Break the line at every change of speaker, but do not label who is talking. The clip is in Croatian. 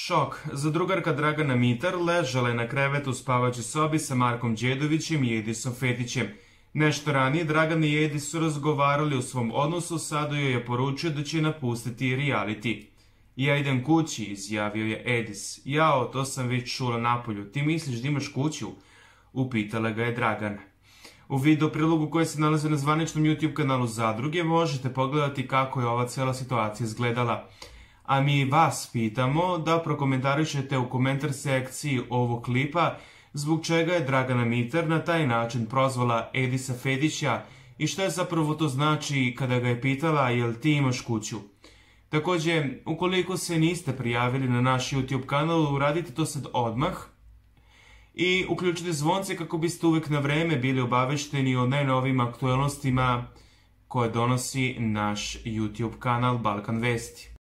Šok. Zadrugarka Dragana Mitar ležala je na krevetu u spavaćoj sobi sa Markom Đedovićem i Edisom Fetićem. Nešto ranije Dragan i Edis su razgovarali o svom odnosu, sada joj je poručio da će napustiti reality. Ja idem kući, izjavio je Edis. Jao, to sam već čula napolju. Ti misliš da imaš kuću? Upitala ga je Dragana. U video prilogu koji se nalazi na zvaničnom YouTube kanalu Zadruge možete pogledati kako je ova cijela situacija izgledala. A mi vas pitamo da prokomentarišete u komentar sekciji ovog klipa zbog čega je Dragana Mitar na taj način prozvala Edisa Fetića i što je zapravo to znači kada ga je pitala jel ti imaš kuću. Također, ukoliko se niste prijavili na naš YouTube kanal, uradite to sad odmah i uključite zvonce kako biste uvijek na vreme bili obavešteni o najnovijim aktualnostima koje donosi naš YouTube kanal Balkan Vesti.